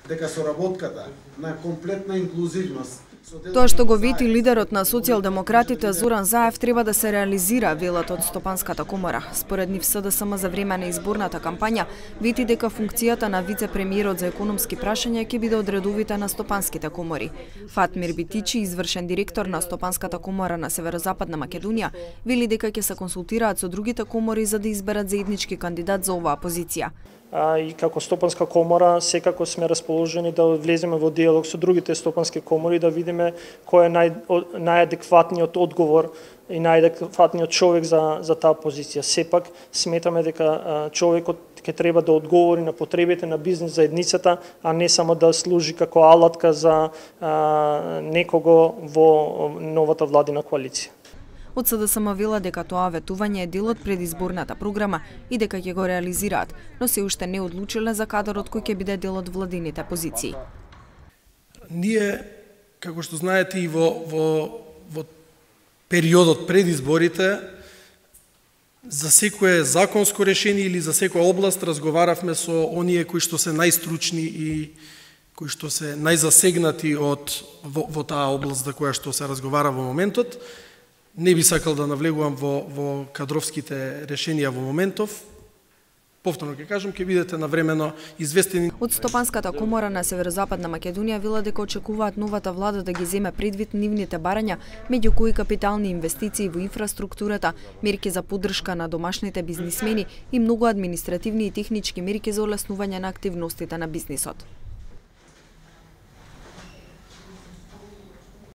дека соработката на комплетна инклузивност. Тоа што го вети лидерот на социјалдемократите Зоран Заев треба да се реализира, велат од Стопанската комора. Според нив СДСМ за време на изборната кампања вети дека функцијата на вице-премиерот за економски прашања ќе биде од редовите на стопанските комори. Фатмир Битичи, извршен директор на Стопанската комора на Северозападна Македонија, вели дека ќе се консултираат со другите комори за да изберат заеднички кандидат за оваа позиција. И како Стопанска комора секако сме расположени да влеземе во диалог со другите стопански комори да видиме кој е најадекватниот одговор и најадекватниот човек за таа позиција. Сепак сметаме дека човекот ќе треба да одговори на потребите на бизнес заедницата, а не само да служи како алатка за некого во новата владина коалиција. Од СДСМ вела дека тоа ветување е дел од предизборната програма и дека ќе го реализираат, но се уште не одлучиле за кадарот кој ќе биде дел од владините позиции. Ние, како што знаете, и во периодот пред изборите, за секое законско решение или за секоја област разговаравме со оние кои што се најстручни и кои што се најзасегнати во таа област за која што се разговара во моментот. Не би сакал да навлегувам во кадровските решенија во моментов. Повторно ќе кажам, ќе бидете навремено известени. Од Стопанската комора на Северозападна Македонија вела дека очекуваат новата влада да ги земе предвид нивните барања, меѓу кои капитални инвестиции во инфраструктурата, мерки за поддршка на домашните бизнисмени и многу административни и технички мерки за олеснување на активностите на бизнисот.